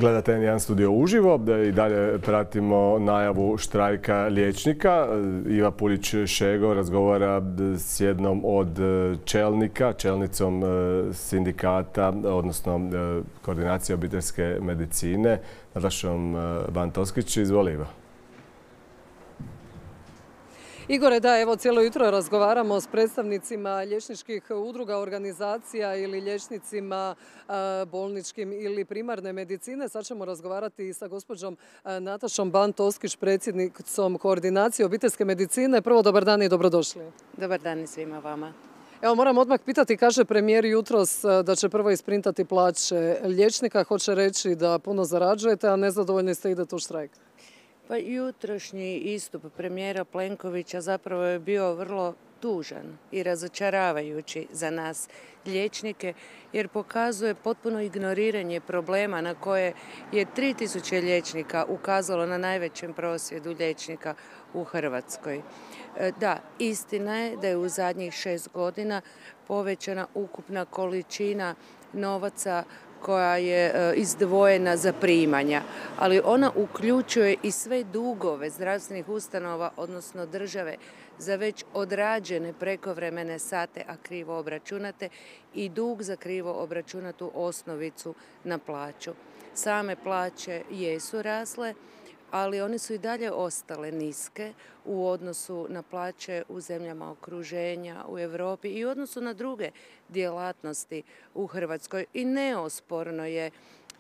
Gledate N1 studio uživo i dalje pratimo najavu štrajka liječnika. Iva Pulić-Šego razgovara s jednom od čelnicom sindikata, odnosno koordinacije obiteljske medicine, Natašom Bantoskić. Izvoli, Iva. Igore, da, evo cijelo jutro razgovaramo s predstavnicima liječničkih udruga, organizacija ili liječnicima bolničkim ili primarne medicine. Sad ćemo razgovarati i sa gospođom Natašom Bantoskić, predsjednicom koordinacije obiteljske medicine. Prvo, dobar dan i dobrodošli. Dobar dan i svima vama. Evo, moram odmah pitati, kaže premijer jutros da će prvo isprintati plaće liječnika. Hoće reći da puno zarađujete, a nezadovoljni ste, idete u štrajk. Pa jutrošnji istup premijera Plenkovića zapravo je bio vrlo tužan i razočaravajući za nas liječnike, jer pokazuje potpuno ignoriranje problema na koje je 3000 liječnika ukazalo na najvećem prosvjedu liječnika u Hrvatskoj. Da, istina je da je u zadnjih 6 godina povećana ukupna količina novaca koja je izdvojena za primanja, ali ona uključuje i sve dugove zdravstvenih ustanova, odnosno države, za već odrađene prekovremene sate, a krivo obračunate, i dug za krivo obračunatu osnovicu na plaću. Same plaće jesu rasle, ali one su i dalje ostale niske u odnosu na plaće u zemljama okruženja, u Europi i u odnosu na druge djelatnosti u Hrvatskoj. I neosporno je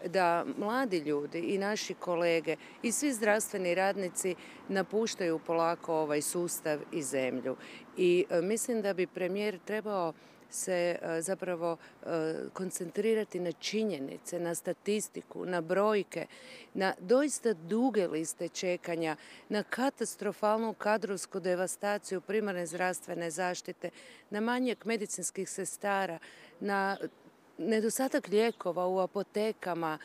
da mladi ljudi i naši kolege i svi zdravstveni radnici napuštaju polako ovaj sustav i zemlju. I mislim da bi premijer trebao se zapravo koncentrirati na činjenice, na statistiku, na brojke, na doista duge liste čekanja, na katastrofalnu kadrovsku devastaciju primarne zdravstvene zaštite, na manjak medicinskih sestara, na nedostatak lijekova u apotekama,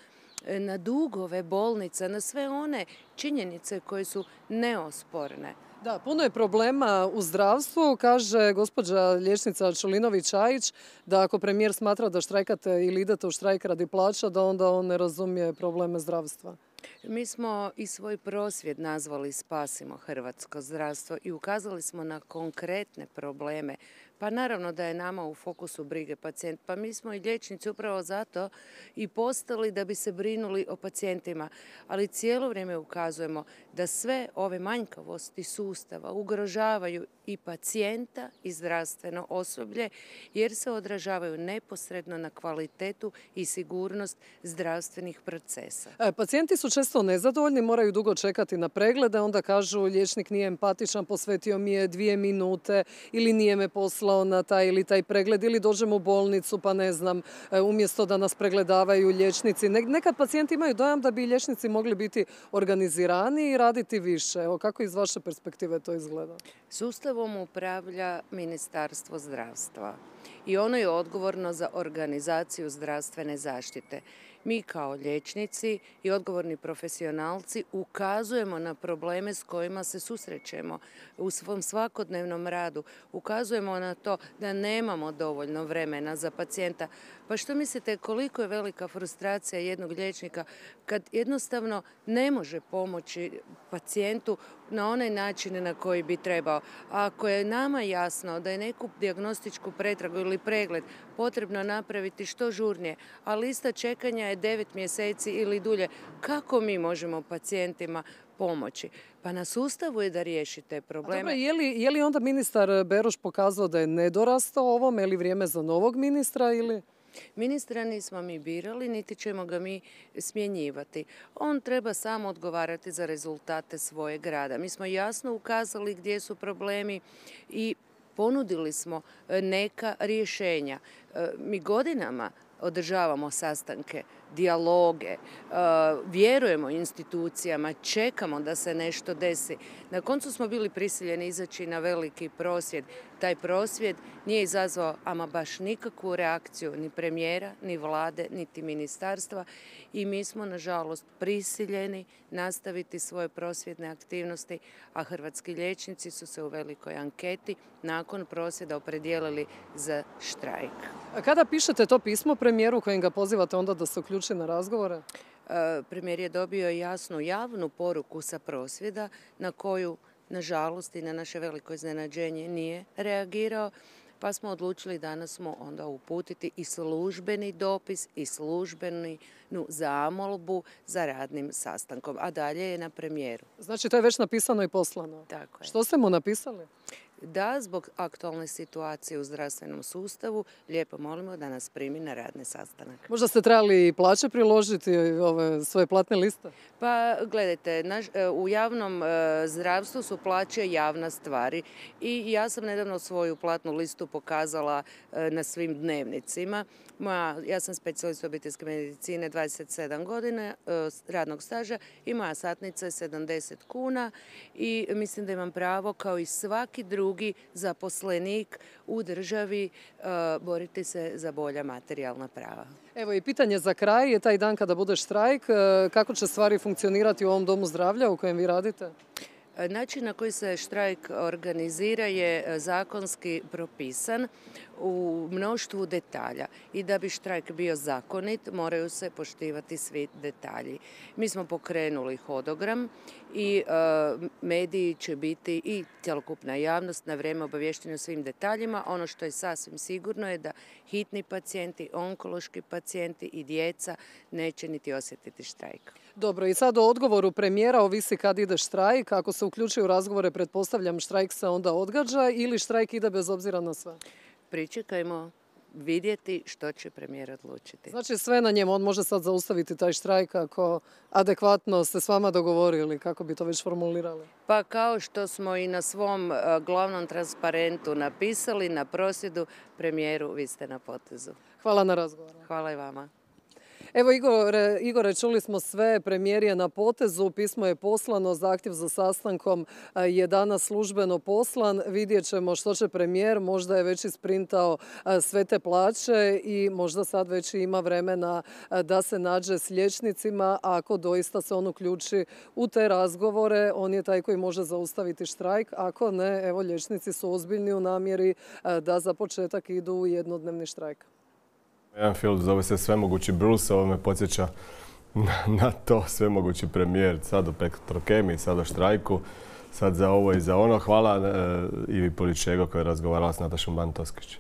na dugove bolnica, na sve one činjenice koje su neosporne. Da, puno je problema u zdravstvu, kaže gospođa liječnica Čulinović-Ajić, da ako premijer smatra da štrajkate ili idete u štrajk radi plaća, da onda on ne razumije probleme zdravstva. Mi smo i svoj prosvjed nazvali Spasimo hrvatsko zdravstvo i ukazali smo na konkretne probleme. Pa naravno da je nama u fokusu brige pacijent. Pa mi smo i liječnici upravo zato i postali da bi se brinuli o pacijentima. Ali cijelo vrijeme ukazujemo da sve ove manjkavosti sustava ugrožavaju i pacijenta i zdravstveno osoblje, jer se odražavaju neposredno na kvalitetu i sigurnost zdravstvenih procesa. Pacijenti su često nezadovoljni, moraju dugo čekati na preglede, onda kažu liječnik nije empatičan, posvetio mi je 2 minute ili nije me poslao na taj ili taj pregled, ili dođemo u bolnicu pa ne znam, umjesto da nas pregledavaju liječnici. Nekad pacijenti imaju dojam da bi liječnici mogli biti organizirani i raditi više. Evo, kako iz vaše perspektive to izgleda? Sustavom upravlja Ministarstvo zdravstva i ono je odgovorno za organizaciju zdravstvene zaštite. Mi kao liječnici i odgovorni profesionalci ukazujemo na probleme s kojima se susrećemo u svom svakodnevnom radu. Ukazujemo na to da nemamo dovoljno vremena za pacijenta. Pa što mislite koliko je velika frustracija jednog liječnika kad jednostavno ne može pomoći pacijentu na onaj način na koji bi trebao. A ako je nama jasno da je neku dijagnostičku pretragu ili pregled potrebno napraviti što žurnije, a lista čekanja je 9 mjeseci ili dulje, kako mi možemo pacijentima pomoći? Pa na sustavu je da riješi te probleme. Dobro, je li onda ministar Beroš pokazao da je nedorastao ovome ili vrijeme za novog ministra ili... Ministra nismo mi birali, niti ćemo ga mi smjenjivati. On treba samo odgovarati za rezultate svojeg rada. Mi smo jasno ukazali gdje su problemi i ponudili smo neka rješenja. Mi godinama održavamo sastanke, dijaloge, vjerujemo institucijama, čekamo da se nešto desi. Na koncu smo bili prisiljeni izaći na veliki prosvjed. Taj prosvjed nije izazvao ama baš nikakvu reakciju ni premijera, ni vlade, niti ministarstva i mi smo, nažalost, prisiljeni nastaviti svoje prosvjedne aktivnosti, a hrvatski liječnici su se u velikoj anketi nakon prosvjeda opredijelili za štrajk. A kada pišete to pismo premijeru kojim ga pozivate onda da se uključi na razgovore? Premijer je dobio jasnu javnu poruku sa prosvjeda na koju, nažalost i na naše veliko iznenađenje, nije reagirao. Pa smo odlučili danas smo onda uputiti i službeni dopis i službenu zamolbu za radnim sastankom, a dalje je na premijeru. Znači to je već napisano i poslano? Tako je. Što ste mu napisali? Da, zbog aktualne situacije u zdravstvenom sustavu, lijepo molimo da nas primi na radni sastanak. Možda ste trebali i plaće priložiti, ove svoje platne liste? Pa gledajte, u javnom zdravstvu su plaće javna stvar i ja sam nedavno svoju platnu listu pokazala na svim dnevnicima. Ja sam specijalist obiteljske medicine, 27 godina radnog staža i moja satnica je 70 kuna i mislim da imam pravo kao i svaki drugi zaposlenik u državi boriti se za bolja materijalna prava. Evo i pitanje za kraj je taj dan kada bude štrajk. Kako će stvari funkcionirati u ovom domu zdravlja u kojem vi radite? Način na koji se štrajk organizira je zakonski propisan u mnoštvu detalja i da bi štrajk bio zakonit moraju se poštivati svi detalji. Mi smo pokrenuli hodogram i mediji će biti i cjelokupna javnost na vrijeme obavješteni o svim detaljima. Ono što je sasvim sigurno je da hitni pacijenti, onkološki pacijenti i djeca neće niti osjetiti štrajk. Dobro, i sad o odgovoru premijera ovisi kad ide štrajk. Ako se uključuje u razgovore, pretpostavljam, štrajk se onda odgađa ili štrajk ide bez obzira na sve? Pričekajmo vidjeti što će premijer odlučiti. Znači sve na njemu, on može sad zaustaviti taj štrajk ako adekvatno ste s vama dogovorili, kako bi to već formulirali? Pa kao što smo i na svom glavnom transparentu napisali, na prosvjedu, premijeru, vi ste na potezu. Hvala na razgovoru. Hvala i vama. Evo Igore, čuli smo sve, premijer je na potezu, pismo je poslano, zahtjev za sastankom je danas službeno poslan. Vidjet ćemo što će premijer, možda je već isprintao sve te plaće i možda sad već ima vremena da se nađe s liječnicima. Ako doista se on uključi u te razgovore, on je taj koji može zaustaviti štrajk. Ako ne, evo liječnici su ozbiljni u namjeri da za početak idu u jednodnevni štrajk. Jedan film zove se Svemogući Bruce, ovo me podsjeća na to, svemogući premijer, sad o Petrokemiji, sad o štrajku, sad za ovo i za ono. Hvala Ivi Polić-Šego koja je razgovarala s Natašom Bantoskić.